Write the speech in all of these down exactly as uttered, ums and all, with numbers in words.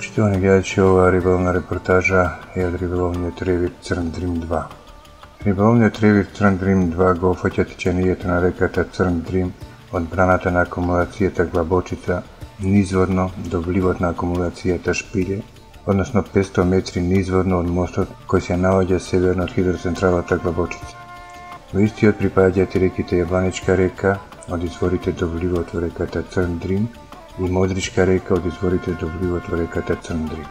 Почитувани гледачи, ова риболовна репортажа е од риболовниот ревир Црн Дрим два. Риболовниот ревир Црн Дрим два го опфаќа течението на реката Црн Дрим од браната на акумулацијата Глабочица низводно до вливот на акумулацијата Шпиле, односно петсто метри низводно од мостот кој се наоѓа северно од хидроцентралата Глабочица. Во истиот припаѓаат и реките Јабланичка река од изворите до вливот во реката Црн Дрим и Модричка река од изворите до вливот во реката Црн Дрим.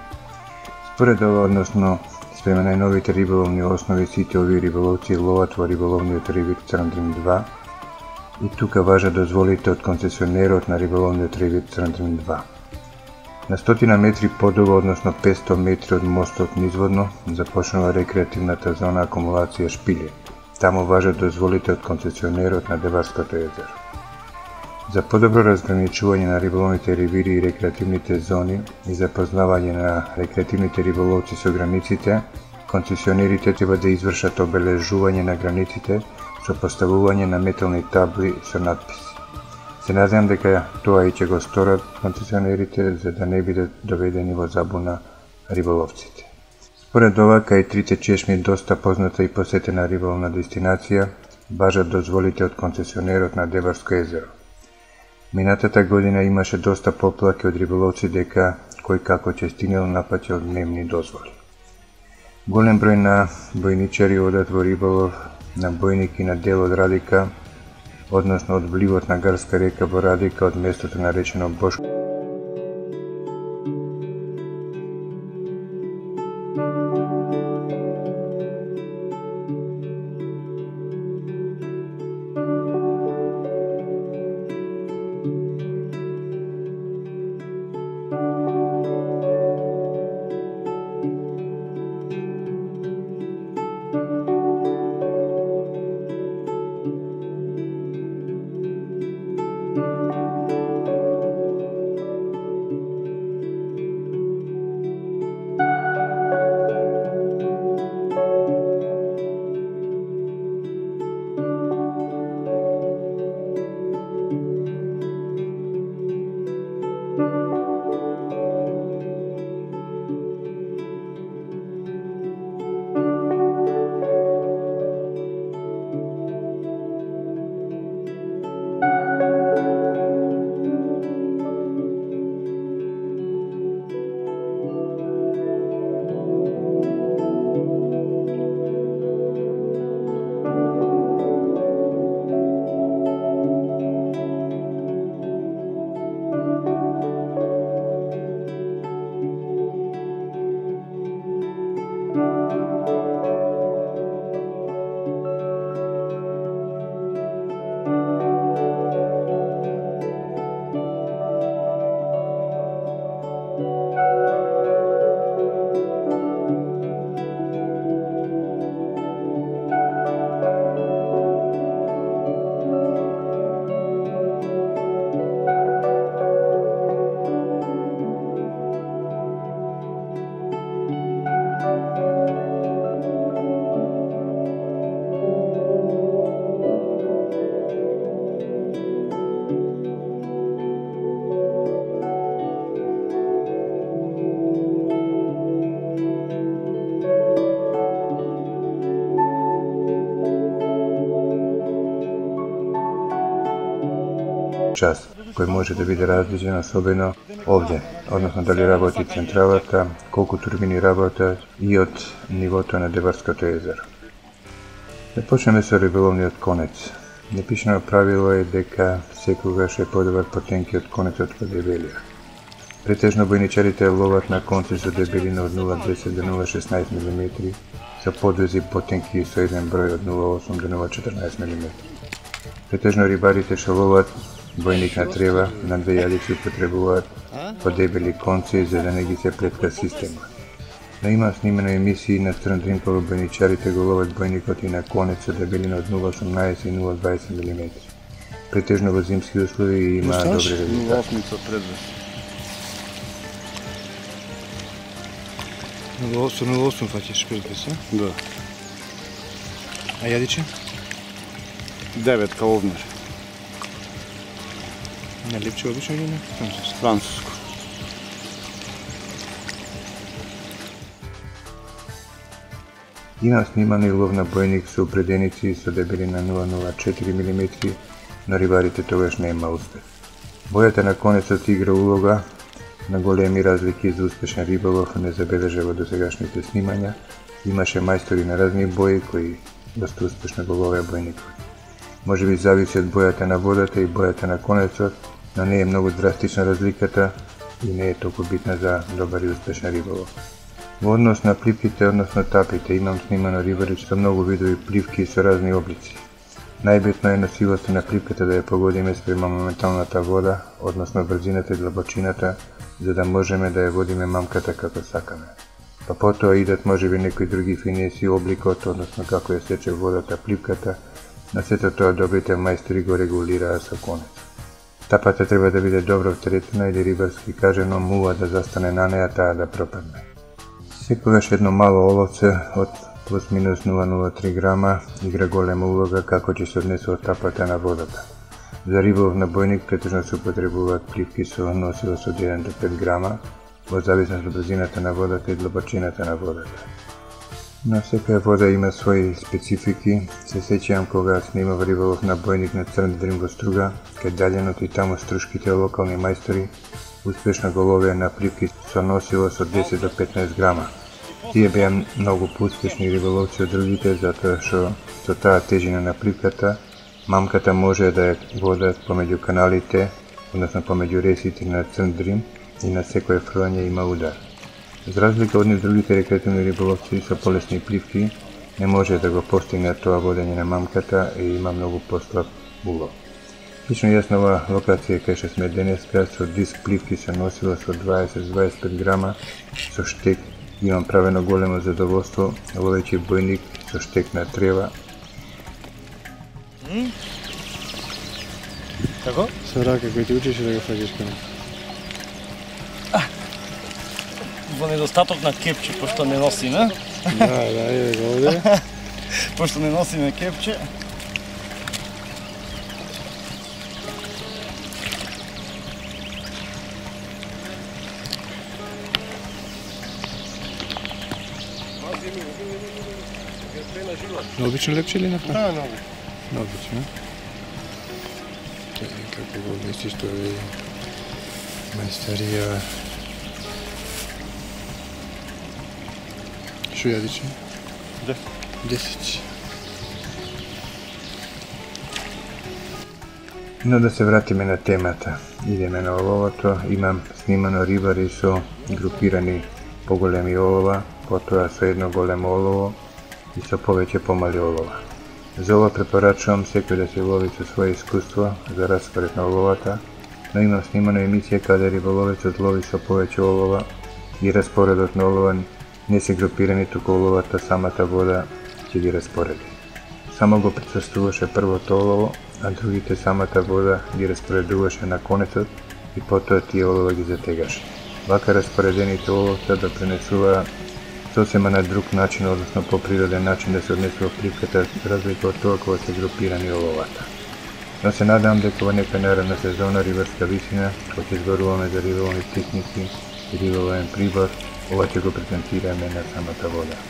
Според ова, односно спрема најновите риболовни основи, сите овие риболовци ловат во риболовниот ревир Црн Дрим два и тука важат дозволите од концесионерот на риболовниот ревир Црн Дрим два. На стотина метри подолу, односно петсто метри од мостот низводно, започнува рекреативната зона акумулација Шпиле. Таму важат дозволите од концесионерот на Деварското езеро. За подобро разграничување на риболовните ревири и рекреативните зони и запознавање на рекреативните риболовци со границите, концесионерите треба да извршат обележување на границите со поставување на метални табли со надписи. Се надевам дека тоа и ќе го сторат концесионерите за да не бидат доведени во забуна риболовците. Според ова, кај трите чешми доста позната и посетена риболовна дестинација, важат дозволите од концесионерот на Деварско езеро. Минатата година имаше доста поплаки од риболовци дека кој како ќе стигнал напаќал дневни дозволи. Голем број на бојничари одат во риболов на бојник и на дел од Радика, односно од вливот на Гарска река во Радика од местото наречено Бошко. Час, кој може да биде различен особено овде, односно дали работи централата, колку турбини работат и од нивото на Деварското езеро. Да почнеме со риболовниот конец. Непишано правило е дека секогаш е подобар потенкиот конец од подебелија. Претежно бојничарите ловат на конци со дебелина од нула целу десет до нула целу шеснаесет милиметри, со подвези потенки со еден број од нула целу осум до нула целу четрнаесет милиметри. Претежно рибарите што ловат бојник на трева на две јадици употребуваат подебели конци за да не ги се плетка системот. Но има снимени емисии на Црн Дрим кога бојничарите го ловат бојникот и на конец со дебелина од нула целу осумнаесет и нула целу дваесет милиметри. Претежно во зимски услови има добри резултати. нула целу осум фаќаш шпилка се? Да. А јадиче? девет каловнер. На липче обично или не? Француско. Француско. Имам сниман и лов на бојник со упреденици со дебелина нула целу четири милиметри, но рибарите тогаш не има успех. Бојата на конецот игра улога на големи разлики за успешен риболов не забележа во досегашните снимања. Имаше мајстори на разни бои кои доста успешно го ловеа бојникот. Може би зависи од бојата на водата и бојата на конецот, но не е многу драстична разликата и не е толку битна за добар и успешен риболов. Во однос на пливките, односно тапите, имам снимано рибари со многу видови пливки со разни облици. Најбитно е носивоста на пливката да ја погодиме спрема моменталната вода, односно брзината и длабочината, за да можеме да ја водиме мамката како сакаме. Па потоа идат можеби некои други финеси, обликот, односно како ја сече водата пливката, на сето тоа добрите мајстори го регулираа со конец. Тапата треба да биде добро втретена или рибарски кажено муа да застане на неа, таа да пропадне. Секогаш едно мало оловце од плюс-минус нула целу нула три грама игра голема улога како ќе се однесува тапата на водата. За риболов на бојник претежно се употребуваат пливки со носилост од еден до пет грама, во зависност од брзината на водата и длабочината на водата. На секоја вода има своји специфики. Се сеќавам кога снимав риболов на бојник на Црн Дрим во Струга, кај далјеното и таму струшките локални мајстори успешно го ловеа на пливки со носилост од десет до петнаесет грама. Тие беа многу поуспешни риболовци од другите, затоа што со таа тежина на пливката, мамката може да ја водат помеѓу каналите, односно помеѓу ресите на Црн Дрим и на секое фрлање има удар. За разлика од нив другите рекреативни риболовци со полесни пливки не може да го постигнат тоа водење на мамката и има многу послаб улов. Лично јас на оваа локација кај што сме денеска со диск пливки се носила со дваесет до дваесет и пет грама со штек, имам правено големо задоволство ловејќи бојник со штек на трева. Како? Со рака кој ти учиш да го фаќаш коне. Во недостаток на кепче, пошто не носиме. Да, да, е го овде. Пошто не носиме кепче. На обично лепче или на фа? Да, много. На обично. Како го месиш тоа е мајсторија. Шо јадиче? Десет. Но да се вратиме на темата. Идеме на оловото. Имам снимано рибари со групирани поголеми олова, потоа со едно големо олово и со повеќе помали олова. За ова препорачувам секој да се лови со свое искуство за распоред на оловата, но имам снимана емисија каде риболовецот лови со повеќе олова и распоредот на олова не се групирани, туку оловата самата вода ќе ги распореди. Само го присуствуваше првото олово, а другите самата вода ги распоредуваше на конецот и потоа тие олова ги затегаше. Вака распоредените оловца да пренесува сосема на друг начин, односно по природен начин да се однесува пливката, разлика од тоа кога се групирани оловата. Но се надам дека во некоја наредна сезона рибарска висина, кога ќе зборуваме за риболовни техники и риболовен прибор, ова ќе го презентираме на самата вода.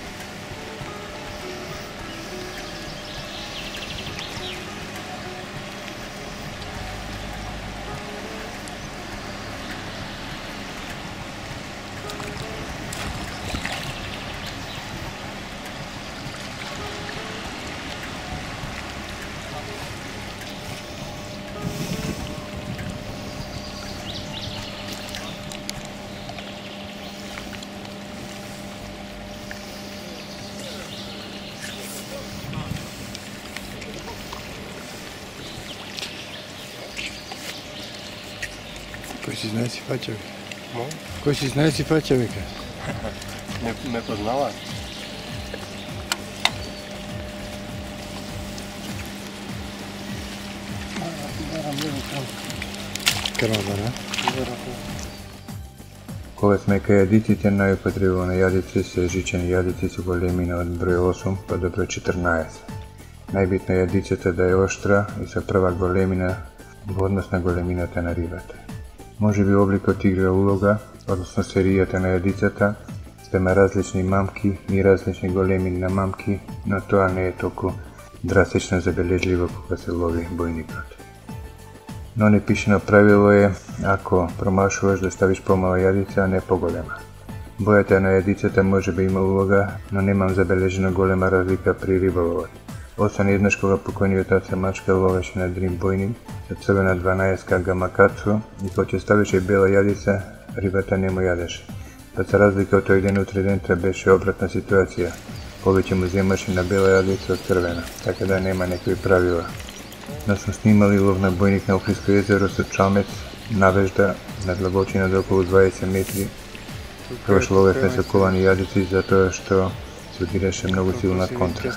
Кој си знае си фаќа, века? Мо? Кој си знае си фаќа, века? Не, не познава. Крава, да? Кога сме кај јадиците, најупотребувани јадици се жичени јадици со големина од број осум па до број четрнаесет. Најбитно е јадицата да е оштра и со прва големина во однос на големината на рибата. Може би обликот игра улога, односно серијата на јадицата, спрема различни мамки и различни големини на мамки, но тоа не е толку драстично забележливо кога се лови бојникот. Но непишено правило е, ако промашуваш да ставиш помала јадица, а не поголема. Бојата на јадицата може би има улога, но немам забележено голема разлика при риболовот. Освен еднаш кога покојниот таца мачка ловеше на дрим бојник со црвена дванаесетка гамакацу и кога ќе ставеше бела јадица, рибата не му јадеше. Па за разлика од тој ден утре дента беше обратна ситуација. Повеќе му земаше на бела јадица од црвена, така да нема некои правила. Но сме снимали лов на бојник на Охридско езеро со чамец, навежда, на длабочина до околу дваесет метри. Тогаш ловевме со ковани јадици затоа што се удираше многу силна контра.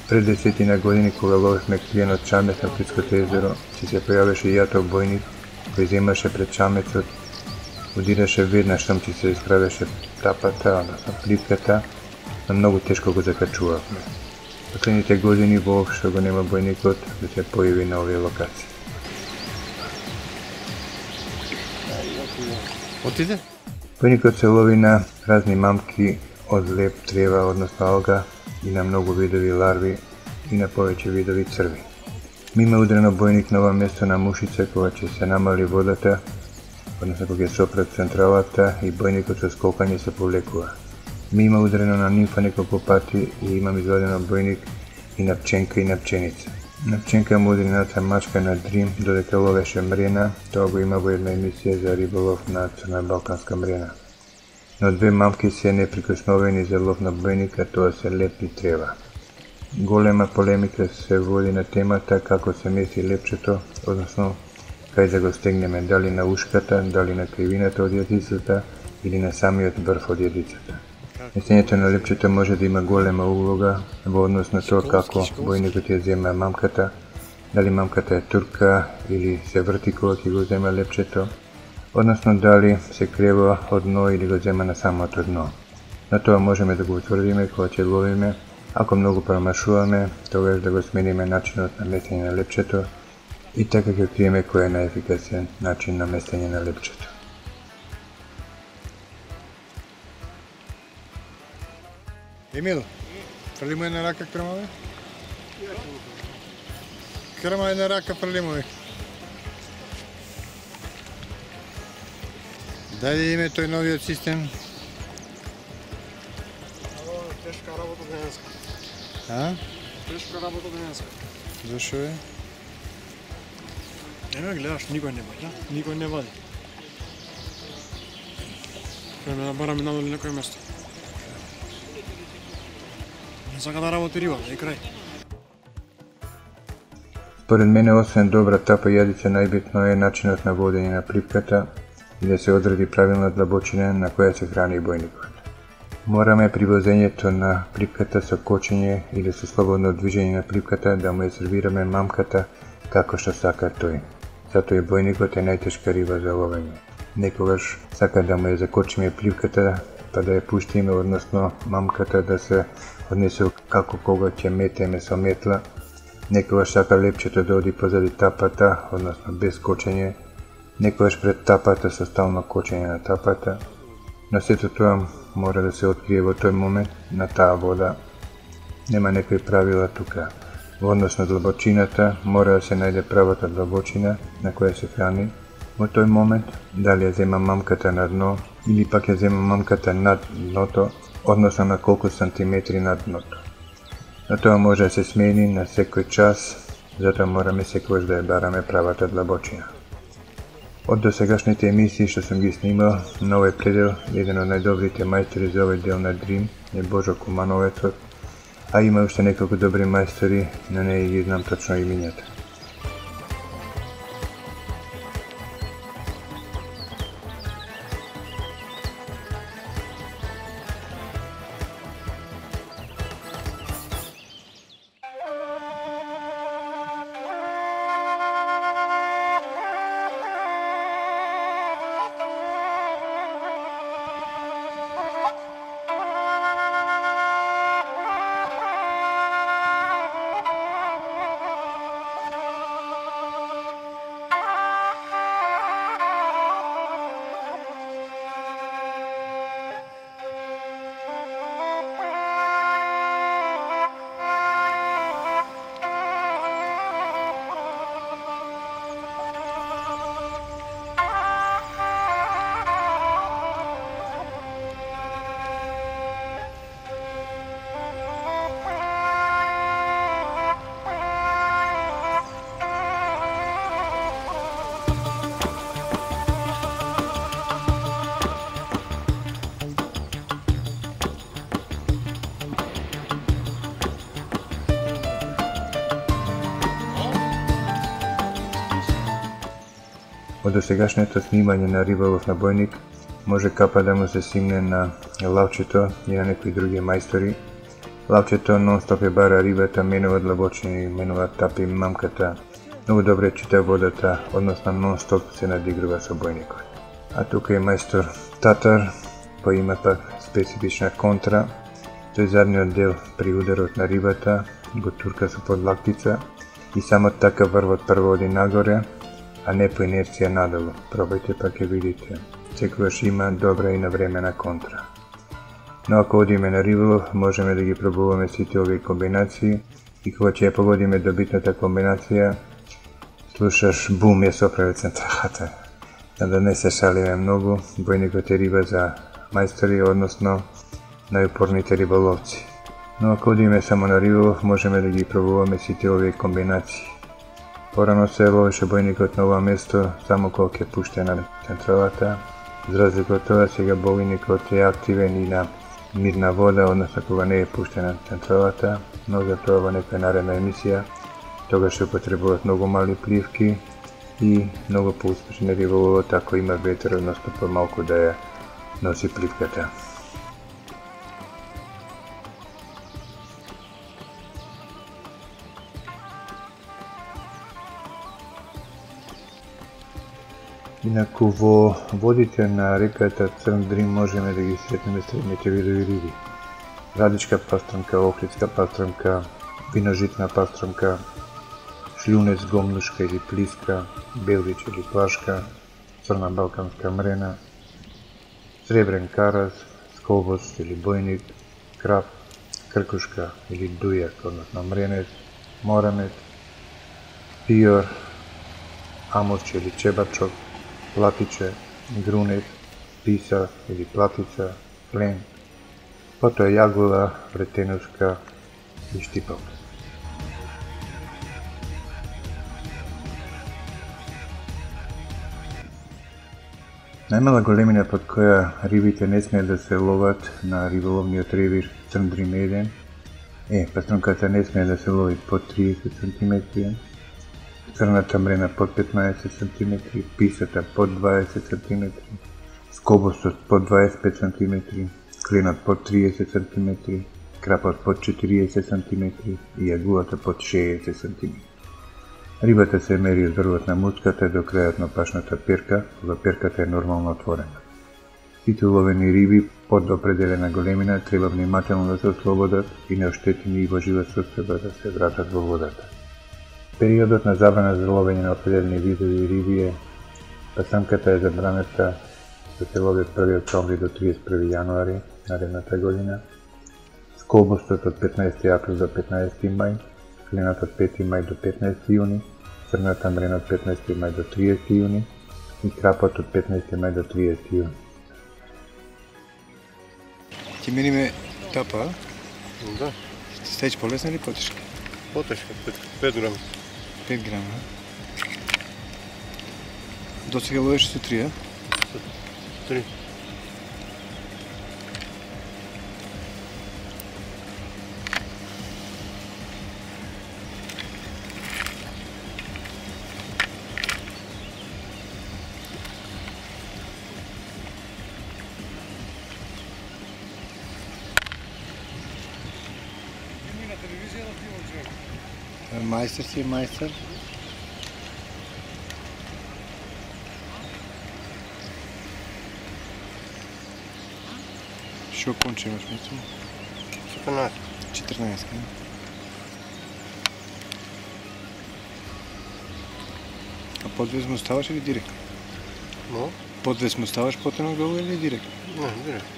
Пред десетина години кога ловевме клиенот чамец на Охридското езеро, си се појавеше јатов бојник кој земаше пред чамецот, удираше веднаш штом ти се искравеше тапата, односно плитката, но многу тешко го закачувавме. Последните години воопшто го нема бојникот да се појави на овие локации. Отиде? Бојникот се лови на разни мамки од леп, трева, односно алга, и на многу видови ларви и на повеќе видови црви. Ми има удрено бојник на ова место на Мушица кога ќе се намали водата, односно кога ќе се опрат централата и бојникот со скокање се повлекува. Ми има удрено на нимфа неколку пати и имам извадено бојник и на пченка и на пченица. На пченка му удри наца мачка на дрим додека ловеше мрена, тоа го има во една емисија за риболов на црна балканска мрена. Но две мамки се неприкосновени за лов на бојник, а тоа се леп и трева. Голема полемика се води на темата како се меси лепчето, односно кај да го стегнеме, дали на ушката, дали на кривината од јадицата или на самиот врв од јадицата. Месењето на лепчето може да има голема улога во однос на тоа како бојникот ја зема мамката, дали мамката е турка или се врти кога ќе го зема лепчето, односно дали се крева од дно или го зема на самото дно. На тоа можеме да го утврдиме кога ќе ловиме, ако многу промашуваме, тогаш да го смениме начинот на месење на лепчето и така ќе откриеме кој е најефикасен начин на месење на лепчето. Емил, фрли му една рака крмаве? Крма една рака, фрли му. Дајде име тој новиот систем. Тешка работа денеска. А? Тешка работа денеска. Зашо е? Еме гледаш, никој не вади, никој не вади. Треба да бараме надолу некој место. Не сака да работи риба, да е крај. Според мене, освен добра тапа јадица, најбитно е начинот на водење на плипката и да се одреди правилна длабочина на која се храни бојникот. Мораме при возењето на плипката со кочење или со слободно движење на плипката да му ја сервираме мамката како што сака тој. Затоа и бојникот е најтешка риба за ловење. Некогаш сака да му ја закочиме плипката, па да ја пуштиме, односно мамката да се однесе како кога ќе метеме со метла. Некогаш сака лепчето да оди позади тапата, односно без кочење. Некогаш пред тапата со стално кочење на тапата. Но сето тоа мора да се открие во тој момент на таа вода. Нема некои правила тука. Во однос на длабочината мора да се најде правата длабочина на која се храни во тој момент, дали ја зема мамката на дно или пак ја зема мамката над дното, односно на колку сантиметри над дното. Но тоа може да се смени на секој час, затоа мораме секогаш да ја бараме правата длабочина. Од досегашните емисии што сум ги снимал на овој предел, еден од најдобрите мајстори за овој дел на дрим е Божо Кумановецот, а има уште неколку добри мајстори, но не ги знам точно имињата. Од досегашното снимање на риболов на бојник може капа да му се симне на лавчето и на некои други мајстори. Лавчето нон-стоп ја бара рибата, менува длабочини, менува тапи мамката, многу добре чита водата, односно нон-стоп се надигрува со бојникот. А тука е мајстор Татар, па има пак специфична контра. Тој задниот дел при ударот на рибата го турка со подлактица и само така врвот прво оди нагоре, а не по инерција надолу. Пробајте па ќе видите. Секогаш има добра и навремена контра. Но ако одиме на риболов, можеме да ги пробуваме сите овие комбинации и кога ќе ја погодиме добитната комбинација, слушаш бум ја соправи централата. Да не се шалиме многу, бојникот е риба за мајстори, односно најупорните риболовци. Но ако одиме само на риболов, можеме да ги пробуваме сите овие комбинации. Порано се ловеше бојникот на ова место само кога ќе пуште на централата. За разлика од тоа, сега бојникот е активен и на мирна вода, односно кога не е пуштен на централата, но за тоа во некоја наредна емисија тогаш се употребуваат многу мали пливки и многу поуспешен риболовот ако има ветер, односно помалку да ја носи пливката. Инаку во водите на реката Црн Дрим можеме да ги сретнеме следните видови риби: радичка пастрамка, охридска пастрамка, виножитна пастрамка, шлјунец, гомнушка или плиска, белвич или плашка, црна балканска мрена, сребрен караз, скобост или бојник, крап, кркушка или дујак, односно мренец, морамец, пиор, амурче или чебачок, платиче, грунет, писа или платица, клен, потоа јагула, вретенушка и штипалка. Најмала големина под која рибите не смеат да се ловат на риболовниот ревир Црн Дрим еден е пастрамката не смее да се лови под триесет сантиметри, црната мрена под петнаесет сантиметри, писата под дваесет сантиметри, скобостот под дваесет и пет сантиметри, кленот под триесет сантиметри, крапот под четириесет сантиметри и јагулата под шеесет сантиметри. Рибата се мери од врвот на муцката до крајот на пашната перка, кога перката е нормално отворена. Сите уловени риби под определена големина треба внимателно да се ослободат и неоштетени и во жива состојба да се вратат во водата. Периодот на забрана за ловење на определени видови риби е: пасамката е забранета да се лови од први октомври до триесет и први јануари наредната година, скобостот од петнаесети април до петнаесети мај, кленот од пети мај до петнаесети јуни, црната мрена од петнаесети мај до триесети јуни и крапот од петнаесети мај до триесети јуни. Ќе мениме тапа, Да, ќе стајиш полесна или потешка? потешка, пет грама. пет грама. До сега ловеше со три, а? Три. Мајстер си, мајстер. Шо конче имаш мислам? четрнаесет. четрнаесет, не? А подвес му ставаш или директно? Но? Подвес му ставаш потенок долу или директно? Не, директно.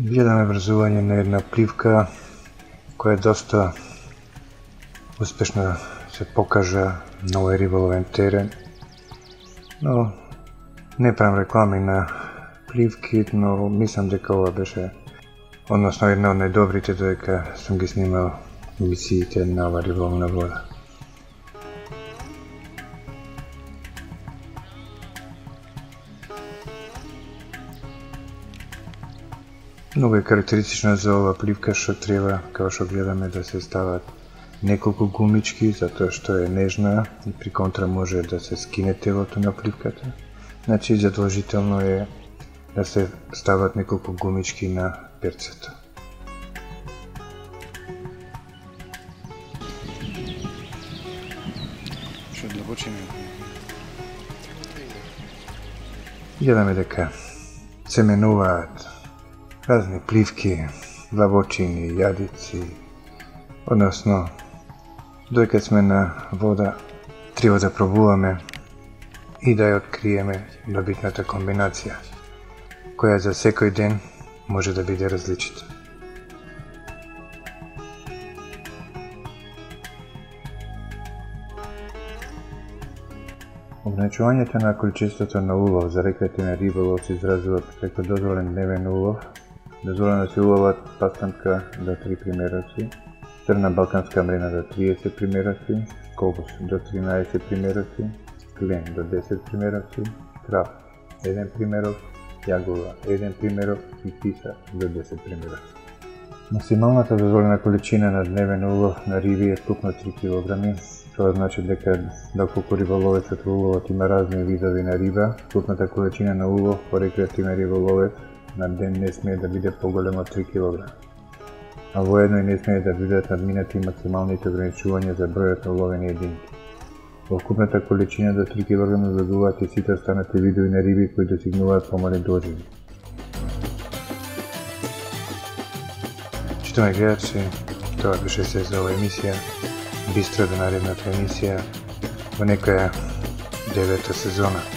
Гледаме врзување на една пливка која е доста успешно се покажа на овој риболовен терен. Но не правам реклами на пливки, но мислам дека ова беше односно една од најдобрите додека сум ги снимал емисиите на ова риболовна вода. Многу е карактеристично за ова пливка што треба, како што гледаме, да се стават неколку гумички, затоа што е нежна и при контра може да се скине телото на пливката. Значи задолжително е да се стават неколку гумички на перцето. Што длабочина? Гледаме дека се менуваат разни пливки, длабочини, јадици, односно додека сме на вода треба да пробуваме и да ја откриеме добитната комбинација, која за секој ден може да биде различита. Ограничувањето на количеството на улов за рекреативен риболов се изразува преку дозволен дневен улов. Дозволено се уловат пастанка до три примероци, црна балканска мрена до триесет примероци, колбус до тринаесет примероци, клен до десет примероци, крав еден примерок, јагула еден примерок и писа до десет примероци. Максималната дозволена количина на дневен улов на риби е вкупно три килограми. Тоа значи дека доколку риболовецот во уловот има разни видови на риба, вкупната количина на улов по рекреативен риболовец на ден не смее да биде поголема од три килограми. А воедно и не смее да бидат надминати максималните ограничувања за бројот на уловени единки. Во вкупната количина до три килограми влегуваат и сите останати видови на риби кои достигнуваат помали дожини. Читаме гледачи, тоа беше се за ова емисија. Бистро до наредната емисија во некоја девета сезона.